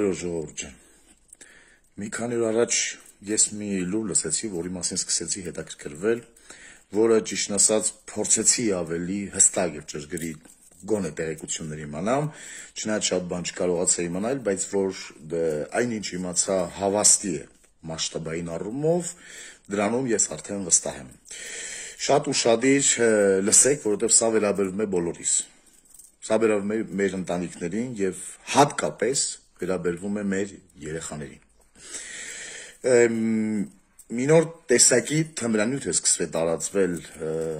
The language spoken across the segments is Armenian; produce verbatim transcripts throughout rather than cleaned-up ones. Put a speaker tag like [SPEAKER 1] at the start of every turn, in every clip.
[SPEAKER 1] Բարև ժողովուրդ ջան։ Մի քանի օր առաջ ես մի լուր լսեցի, որի մասին սկսեցի հետաքրքրվել, որը ճիշտն ասած փորձեցի ավելի հստակ եւ ճշգրիտ գոնե տեղեկություններ իմանամ, չնայած շատ բան չկարողացա իմանալ, բայց որ այնինչ իմացա հավաստի է մասշտաբային առումով, դրանում ես արդեն վստահ եմ։ Շատ ուշադիր լսեք, որովհետեւ սա վերաբերում է բոլորիս։ Սա վերաբերում է մեր ընտանիքներին եւ հատկապես վերաբերվում է մեր երեխաներին։ Մի նոր տեսակի թմրանյութ է սկսվել տարածվել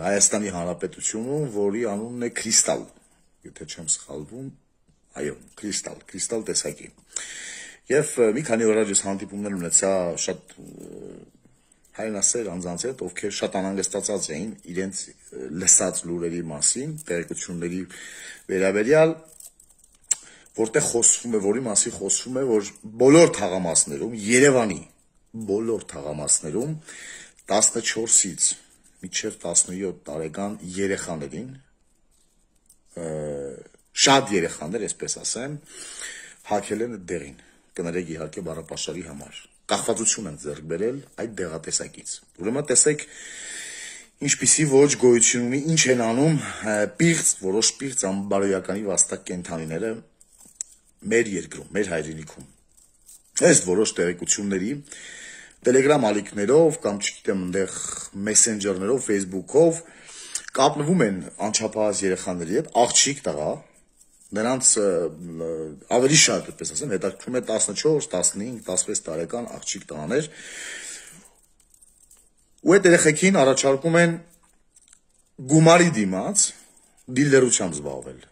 [SPEAKER 1] Հայաստանի Հանրապետությունում, որի անունն է Քրիստալ, եթե չեմ սխալվում, այո, Քրիստալ, Քրիստալ տեսակի։ Եվ մի քանի օր առաջ հանդիպումներ ունեցա շատ հայրենասեր անձանց հետ, ովքեր շատ անհանգստացած էին իրենց լսած լուրերի մասին, տեղեկությունների վերաբերյալ, որտեղ խոսվում է, որի մասին խոսվում է, որ բոլոր թաղամասերում, Երևանի բոլոր թաղամասերում տասնչորսից մինչև տասնյոթ տարեկան երեխաներին, շատ երեխաներ, այսպես ասեմ, հագել են դեղին, կներեք իհարկե բառապաշարի համար, կախվածություն են ձեռք բերել այդ դեղատեսակից։ Ուրեմն տեսեք ինչպիսի ոչ գոյություն ունի, ինչ են անում պիղծ, որոշ պիղծ անբարոյականի վաստակ կենդանիները մեր երկրում, մեր հայրենիքում։ Այս որոշ տեղեկությունների Telegram ալիքներով կամ չգիտեմ այնտեղ մեսենջերներով, Facebook-ով կապնվում են անչափահաս երեխաների հետ, աղջիկ տղա, նրանց ավելի շատ, այդպես ասեմ, հետաքրքրում է տասնչորս, տասնհինգ, տասնվեց տարեկան աղջիկ տղաներ, ու այդ երեխեքին առաջարկում են գումարի դիմաց դիլերությամբ զբաղվել։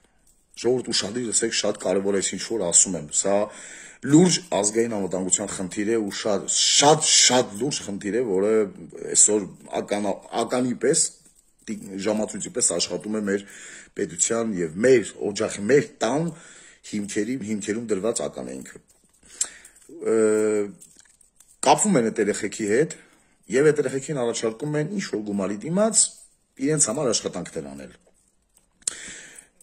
[SPEAKER 1] Ժողովուրդ ուշադիր լսեք, շատ կարևոր է, ինչ որ ասում եմ, սա լուրջ ազգային անվտանգության խնդիր է ու շատ շատ շատ լուրջ խնդիր է, որը այսօր ականի պես ժամացույցի պես աշխատում է մեր պետության եւ մեր օջախի մեր տան հիմքերի հիմքերում դրված ական է ինքը։ Կապվում են այդ երեխեքի հետ եւ այդ երեխեքին առաջարկում են ինչ որ գումարի դիմաց իրենց համար աշխատանքներ անել։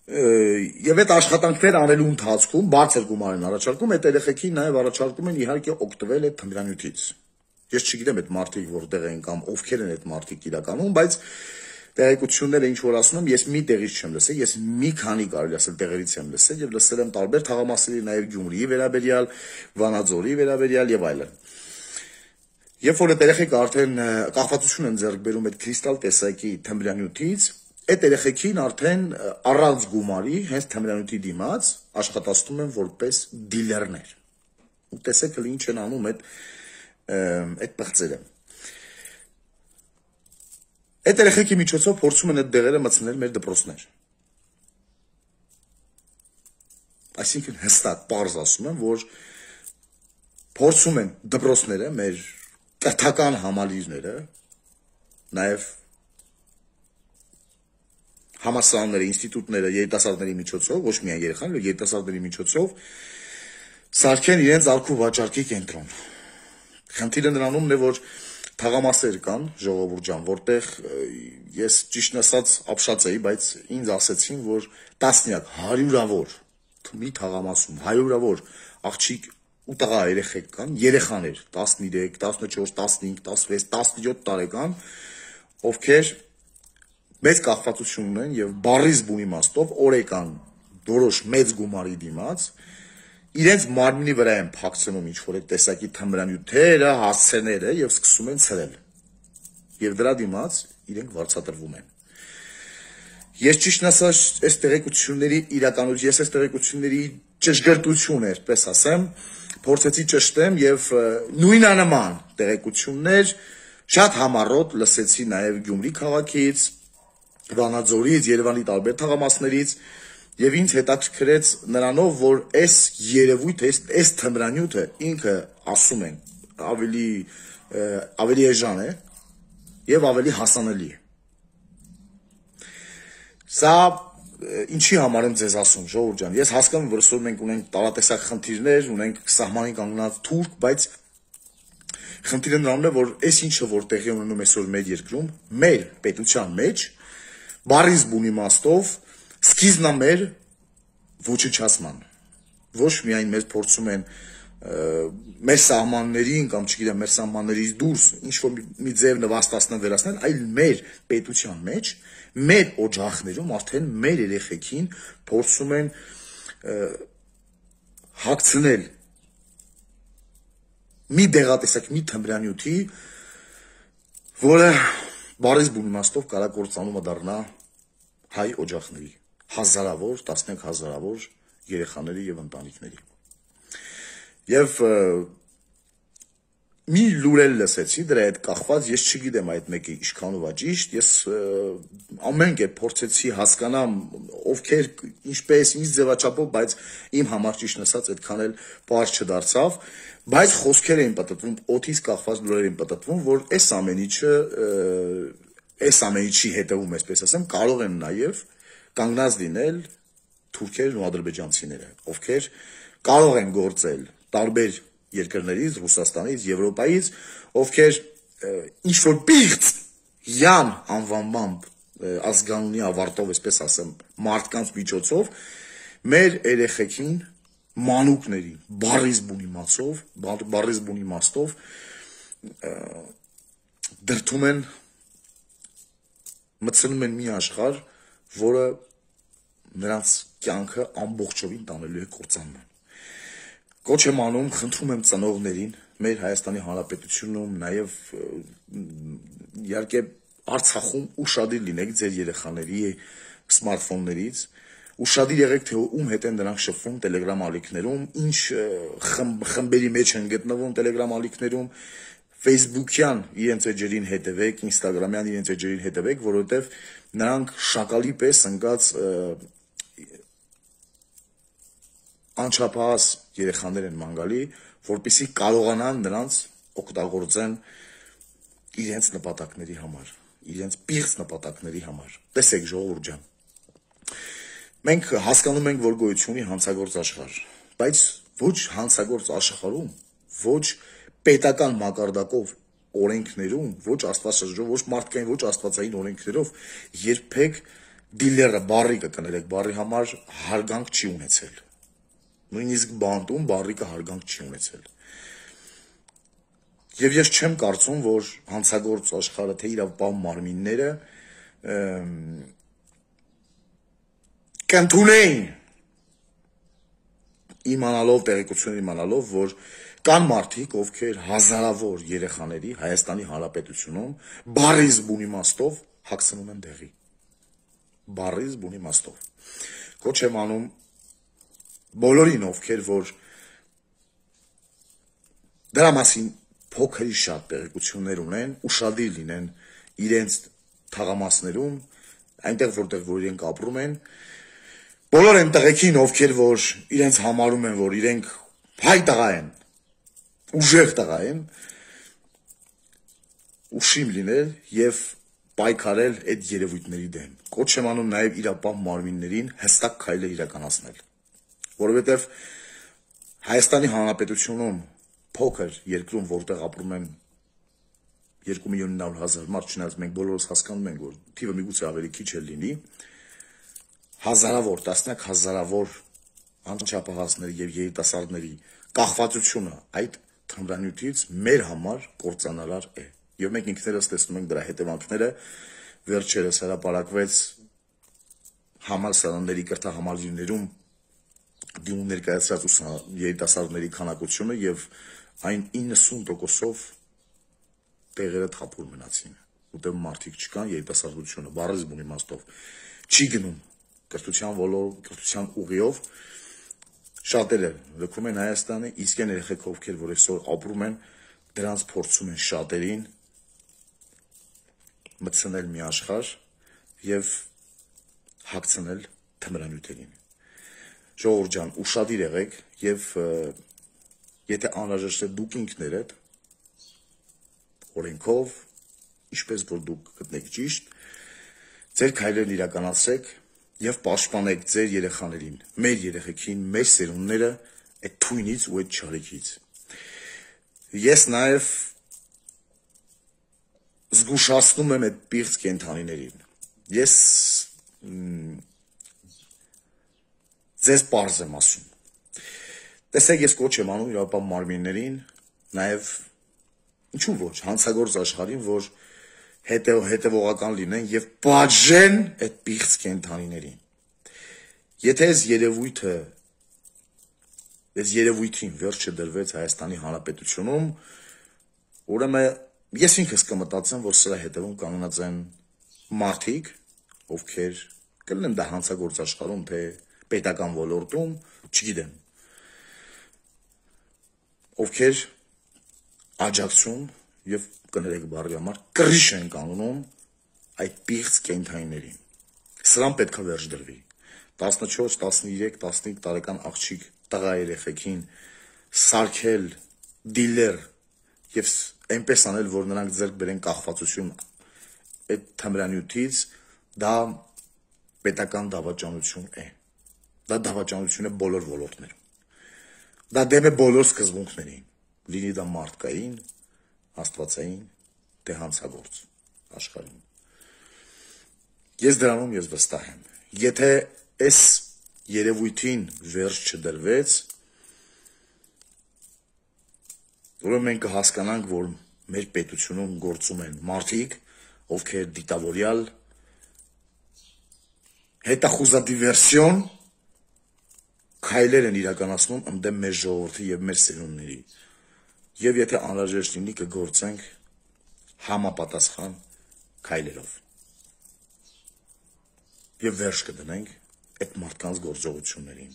[SPEAKER 1] Եվ այդ աշխատանքներ անելու ընթացքում բարձր գումար են առաջարկում, այդ երեխեքին նաև առաջարկում են իհարկե օգտվել այդ թմրանյութից։ Ես չգիտեմ այդ մարդիկ որտեղ են կամ ովքեր են այդ մարդիկ իրականում, բայց տեղեկությունները ինչ որ ասում եմ, ես մի տեղից չեմ լսել, ես մի քանի կարելի ասել տեղերից եմ լսել եւ լսել եմ տարբեր թաղամասերի, նաև Գյումրիի վերաբերյալ, Վանաձորի վերաբերյալ եւ այլն։ Երբ որ այդ երեխեքը արդեն կախվածություն են ձեռք բերում այդ Քրիստալ տեսակի թմրանյութից, այդ երեխեքին արդեն առանց գումարի, հենց թմրանյութի դիմաց աշխատացնում են որպես դիլերներ։ Ու տեսեք էլ ինչ են անում այդ այդ պղծերը։ Այդ երեխեքի միջոցով փորձում են այդ դեղերը մտցնել մեր դպրոցներ։ Այսինքն հստակ պարզ ասում եմ, որ փորձում են դպրոցները, մեր կրթական համալիրները, նաև համալսարանները, ինստիտուտները երիտասարդների միջոցով, ոչ միայն երեխաների, այլ երիտասարդների միջոցով սարքեն իրենց ալքու վաճառքի կենտրոն։ Խնդիրը նրանումն է, որ թաղամասեր կան, ժողովուրդ ջան, որտեղ ես ճիշտն ասած ապշած էի, բայց ինձ ասեցին, որ տասնյակ, հարյուրավոր մի թաղամասում, հարյուրավոր աղջիկ ու տղա երեխեք կան, երեխաներ, տասնյոթ, տասնչորս, տասնհինգ, տասնվեց, տասնյոթ տարեկան, ովքեր մեծ կախվածություն ունեն եւ բարիզ բուն իմաստով օրեկան որոշ մեծ գումարի դիմաց իրենց մարմնի վրա են փակցնում ինչ որ այդ տեսակի թմրանյութերը, հասցեները եւ սկսում են ցրել։ Եվ դրա դիմաց իրենք վարձատրվում են։ Ես ճիշտն ասած այս տեղեկությունների իրականություն, ես այս տեղեկությունների ճշգրտությունը, այսպես ասեմ, փորձեցի ճշտեմ եւ նույնանման տեղեկություններ շատ համառոտ լսեցի նաեւ Գյումրի քաղաքից, Վանաձորից, Երևանի տարբեր թաղամասներից եւ ինձ հետաքրքրեց նրանով, որ այս երևույթը, այս թմրանյութը ինքը ասում են ավելի ավելի էժան է եւ ավելի հասանելի է։ Սա ինչի համար եմ ձեզ ասում, ժողովուրդ ջան, ես հասկանում եմ, որ այսօր մենք ունենք տարատեսակ խնդիրներ, ունենք սահմանին կանգնած թուրք, բայց խնդիրը նրանում է, որ այս ինչը որ տեղի ունենում այսօր մեր երկրում, մեր պետության մեջ բարիզ բուն իմաստով սկիզբն է մեր ոչնչացման։ Ոչ միայն մեզ փորձում են մեր սահմաններին կամ չգիտեմ մեր սահմաններից դուրս ինչ որ մի ձև նվաստացնեն վերացնել, այլ մեր պետության մեջ, մեր օջախներում արդեն մեր երեխեքին փորձում են հագցնել մի դեղատեսակ, մի թմրանյութի, որը բարես բուն իմաստով կարա կործանումը դառնա հայ օջախների, հազարավոր, տասնյակ հազարավոր երեխաների եւ ընտանիքների։ Եվ մի լուրել լսեցի դրա հետ կախված, ես չգիտեմ այդ մեկի ինչքանով է ճիշտ, ես ամեն կերպ փորձեցի հասկանամ ովքեր ինչպես ինչ ձևաչափով, բայց իմ համար ճիշտ ասած այդքան էլ պարզ չդարձավ, բայց խոսքեր էին պատտվում, օդից կախված լուրեր էին պատտվում, որ այս ամեն ինչը այս ամեն ինչի հետևում, այսպես ասեմ, կարող են նաև կանգնած լինել թուրքերն ու ադրբեջանցիները, ովքեր կարող են գործել տարբեր երկրներից, Ռուսաստանից, Եվրոպայից, ովքեր ինչ որ պիղծ յան անվանմամբ ազգանունի ավարտով, այսպես ասեմ, մարդկանց միջոցով մեր երեխեքին մանուկների բարիս բուն իմացով, բարիս բուն իմաստով դրդում են մտցնում են մի աշխարհ, որը նրանց կյանքը ամբողջովին տանելու է կործանման։ Կոչ եմ անում, խնդրում եմ ծնողներին, մեր Հայաստանի Հանրապետությունում, նաև իհարկե Արցախում ուշադիր լինեք ձեր երեխաների սմարթֆոններից, ուշադիր եղեք, թե ում հետ են նրանք շփվում Telegram ալիքներում, ինչ խմբերի մեջ են գտնվում Telegram ալիքներում, Facebook-յան իրենց էջերին հետևեք, Instagram-յան իրենց էջերին հետևեք, որովհետև նրանք շակալի պես ընկած անչափահաս երեխաներ են մանգալի, որպեսզի կարողանան նրանց օգտագործեն իրենց նպատակների համար, իրենց պիղծ նպատակների համար։ Տեսեք ժողովուրդ ջան։ Մենք հասկանում ենք, որ գոյություն ունի հանցագործ աշխարհ, բայց ոչ հանցագործ աշխարհում, ոչ պետական մակարդակով օրենքներում, ոչ աստվածաշրջով, ոչ մարդկային, ոչ աստվածային օրենքներով երբեք դիլերը բարիկը կներեք, բարի համար հարգանք չի ունեցել։ Նույնիսկ բանտում բարիկը հարգանք չի ունեցել։ Եվ ես չեմ կարծում, որ հանցագործ աշխարհը թե իրավապահ մարմինները կընդունեին իմանալով, տեղեկություն իմանալով, որ կան մարդիկ, ովքեր հազարավոր երեխաների Հայաստանի Հանրապետությունում բարիս բուն իմաստով հագցնում են դեղի։ Բարիս բուն իմաստով։ Կոչ եմ անում բոլորին, ովքեր որ դրա մասին փոքրի շատ տեղեկություններ ունեն, ուշադիր լինեն իրենց թաղամասներում, այնտեղ որտեղ որ իրենք ապրում են, բոլոր են տղեկին, ովքեր որ իրենց համարում են, որ իրենք հայ տղա են, ուժեղ տղա են, ուշիմ լինել եւ պայքարել այդ երևույթների դեմ։ Կոչ եմ անում նաեւ իրապահ մարմիններին հստակ քայլեր իրականացնել, որովհետեւ Հայաստանի Հանրապետությունում փոքր երկրում, որտեղ ապրում են երկու միլիոն նավը հազար մարդ, չնայած մենք բոլորս հասկանում ենք, որ թիվը միգուցե ավելի քիչ էլ լինի, հազարավոր, տասնյակ հազարավոր անչափահասների եւ երիտասարդների կախվածությունը այդ թմրանյութից մեր համար կործանարար է։ Եվ մենք ինքներս տեսնում ենք դրա հետևանքները, վերջերս հրապարակվեց համալսարանների կրթահամալիրներում դիմում ներկայացրած երիտասարդների քանակությունը եւ այն իննսուն տոկոսով տեղերը թափուր մնացին, որտեղ մարդիկ չկան, երիտասարդությունը բառից բուն իմաստով չի գնում կրթության ոլոր, կրթության ուղիով, շատերը լքում են Հայաստանը, իսկ այն երեխեք ովքեր որ այսօր ապրում են, դրանց փորձում են շատերին մտցնել մի աշխարհ եւ հագցնել թմրանյութերին։ Ժողովուրդ ջան, ուշադիր եղեք եւ եթե անհրաժեշտ է դուք ինքներդ օրենքով, ինչպես որ դուք գտնեք ճիշտ, ձեր քայլերն իրականացրեք եւ պաշտպանեք ձեր երեխաներին, մեր երեխեքին, մեր սերունդները այդ թույնից ու այդ չարիքից։ Ես նաեւ զգուշացնում եմ այդ պիղծ կենդանիներին։ Ես ձեզ պարզ եմ ասում։ Տեսեք, ես կոչ եմ անում իրավապահ մարմիններին, նաև ինչու ոչ, հանցագործ աշխարհին, որ հետև, հետևողական լինեն եւ պատժեն այդ պիղծ կենդանիներին։ Եթե այս երևույթը, այս երևույթին վերջը դրվեց Հայաստանի Հանրապետությունում, ուրեմն ես ինքս կմտածեմ, որ սրա հետևում կանգնած են մարդիկ, ովքեր կլինեն դա հանցագործ աշխարհում, թե պետական ոլորտում, չգիտեմ, ովքեր աջակցում եւ կներեք բառի համար կռիչ են կանոնում այդ պիղծ կենդանիներին։ Սրան պետք է վերջ դրվի։ տասնչորս, տասնիրեք, տասնհինգ տարեկան աղջիկ տղա երեխեքին սարքել դիլեր եւ այնպես անել, որ նրանք ձեռք բերեն կախվածություն այդ թմրանյութից, դա պետական դավաճանություն է։ Դա դավաճանություն է բոլոր ոլորտներում։ Դա դեմ է բոլոր սկզբունքներին, լինի դա մարդկային, աստվածային, թե հանցագործ աշխարհում։ Ես դրանում ես վստահ եմ։ Եթե այս երևույթին վերջ չդրվեց, ուրեմն մենք կհասկանանք, որ մեր պետությունում գործում են մարդիկ, ովքեր դիտավորյալ հետախուզադիվերսիոն քայլեր են իրականացնում ընդդեմ մեր ժողովրդի եւ մեր սերունդների։ Եվ եթե անհրաժեշտ լինի կգործենք համապատասխան քայլերով։ Եվ վերջ կդնենք այդ մարդկանց գործողություններին։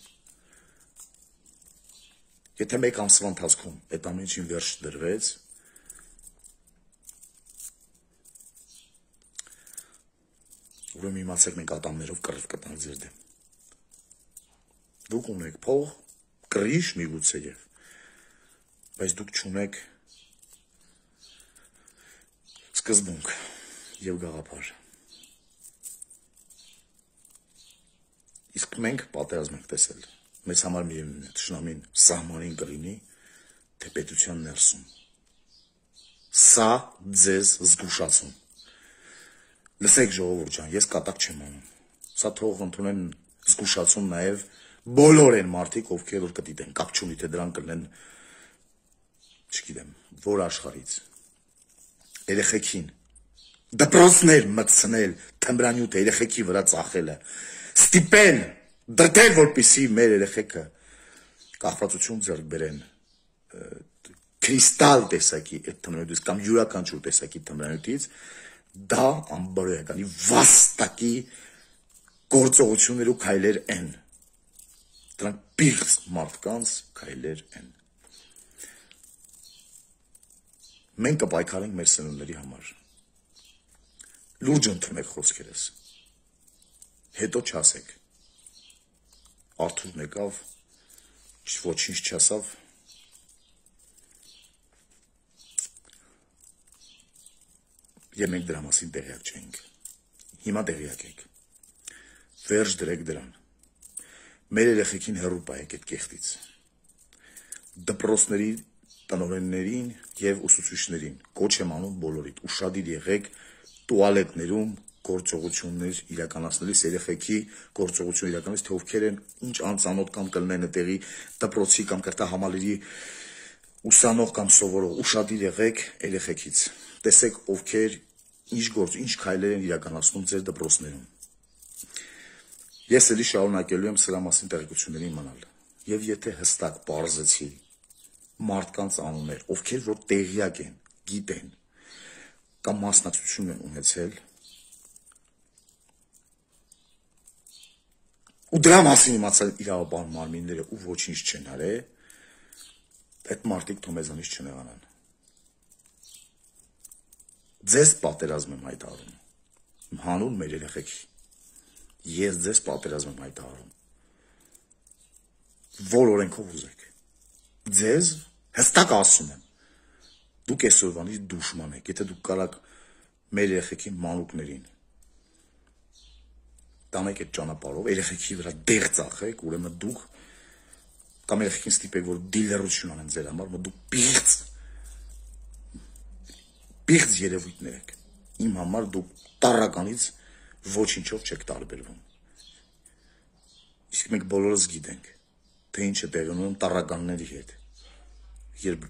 [SPEAKER 1] Եթե մեկ ամսվա ընթացքում այդ ամեն ինչին վերջ դրվեց, ուրեմն իմացեք մենք ատամներով կռիվ կտանք ձեր դեմ։ Դուք ունեք փող, կռիչ միգուցե եւ, բայց դուք չունեք սկզբունք եւ գաղափար։ Իսկ մենք պատերազմ ենք տեսել։ Մեզ համար միևնույն է, թշնամին սահմանին կլինի, թե պետության ներսում։ Սա ձեզ զգուշացում։ Լսեք ժողովուրդ ջան, ես կատակ չեմ անում։ Սա թող ընդունեն զգուշացում նաեւ բոլոր են մարդիկ, ովքեր որ կդիտեն, կապ չունի, թե դրանք կլինեն, չգիտեմ, որ աշխարհից։ Երեխեքին դպրոցներ մտցնել, թմրանյութ երեխեքի վրա ծախելը, ստիպել, դրդել, որպեսզի մեր երեխեքը կախվածություն ձեռք բերեն, կրիստալ տեսակի այդ թմրանյութից կամ յուրաքանչյուր տեսակի թմրանյութից, դա անբարոյականի վաստակի գործողություններ ու քայլեր են։ Դրանք պիղծ մարդկանց քայլեր են։ Մենք կպայքարենք մեր սերունդների համար։ Լուրջ ընդունեք խոսքերս։ Հետո չասեք։ Արթուրն եկավ, ոչինչ չասավ։ Եվ մենք դրա մասին տեղյակ չենք։ Հիմա տեղյակ եք։ Վերջ դրեք դրան։ Մեր երեխեքին հեռու պահեք այդ կեղտից։ Դպրոցների տնօրեններին եւ ուսուցիչներին կոչ եմ անում բոլորիդ, ուշադիր եղեք տուալետներում գործողություններ իրականացնելիս, երեխեքի գործողություն իրականացնելիս, թե ովքեր են, ինչ անծանոթ կամ կլինեն այդտեղի դպրոցի կամ կրթահամալիրի ուսանող կամ սովորող, ուշադիր եղեք երեխեքից։ Տեսեք ովքեր ինչ գործ, ինչ քայլեր են իրականացնում ձեր դպրոցներում։ Ես էլի շարունակելու եմ սրա մասին տեղեկությունների իմանալ։ Եվ եթե հստակ պարզեցի մարդկանց անուններ, ովքեր որ տեղյակ են, գիտեն կամ մասնակցություն են ունեցել, ու դրա մասին իմացել իրավապահ մարմինները ու ոչինչ չեն արել, այդ մարդիկ թող մեզանից չնեղանան։ Ձեզ պատերազմ եմ հայտարարում։ Հանուն մեր երեխեքի։ Ես ձեզ պատերազմ եմ հայտարարում։ Որ օրենքով ուզեք։ Ձեզ հստակ ասում եմ։ Դուք այսօրվանից դուշման եք, եթե դուք կարաք մեր երեխեքի մանուկներին տանեք այդ ճանապարհով, երեխեքի վրա դեղ ծախեք, ուրեմն դուք կամ երեխեքին ստիպեք, որ դիլերություն անեն ձեր համար, որ դուք պիղծ պիղծ երևույթներ եք։ Իմ համար դուք տառականից ոչինչով չեք տարբերվում։ Իսկ մենք բոլորս գիտենք, թե ինչ է տեղի ունենում տառականների հետ։ Երբ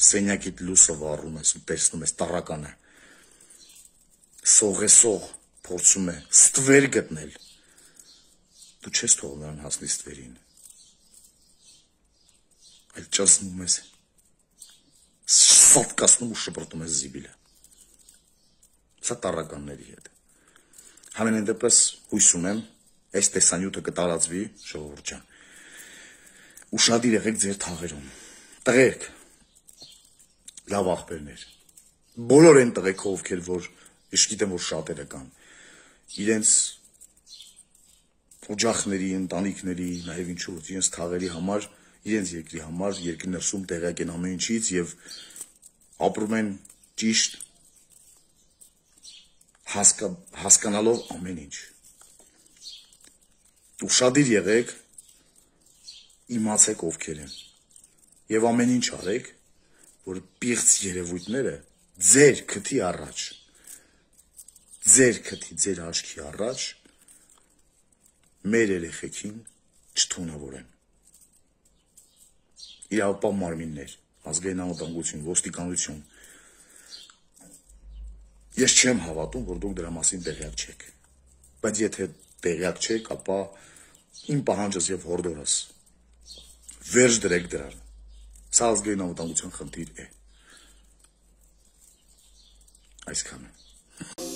[SPEAKER 1] սենյակիդ լույսը վառում ես ու տեսնում ես տառականը, սողեսող փորձում է ստվեր գտնել, դու չես թողնում նրան հասնի ստվերին, այլ ճզմում ես, սատկացնում ու շպրտում ես զիբիլը։ Սա տառականների հետ։ Համենայն դեպս հույս ունեմ, այս տեսանյութը կտարածվի, ժողովուրդ ջան։ Ուշադիր եղեք ձեր թաղերում։ Տղերք, լավ աղբերներ, բոլոր այն տղեկ ովքեր, որ ես գիտեմ, որ շատերը կան, իրենց օջախների, ընտանիքների, նաև ինչու, իրենց թաղերի համար, իրենց երկրի համար, երկրի ներսում տեղյակ են ամեն ինչից եւ ապրում են ճիշտ հասկա, հասկանալով ամեն ինչ։ Ուշադիր եղեք, իմացեք ովքեր են եւ ամեն ինչ արեք, որ պիղծ երևույթները ձեր քթի առաջ, ձեր քթի, ձեր աչքի առաջ մեր երեխեքին չթունավորեն։ Իրավապահ մարմիններ, ազգային անվտանգություն, ոստիկանություն։ Ես չեմ հավատում, որ դուք դրա մասին տեղյակ չեք։ Բայց եթե տեղյակ չեք, ապա իմ պահանջս եւ հորդորս վերջ դրեք դրան։ Սա ազգային անվտանգության խնդիր է։ Այսքանը։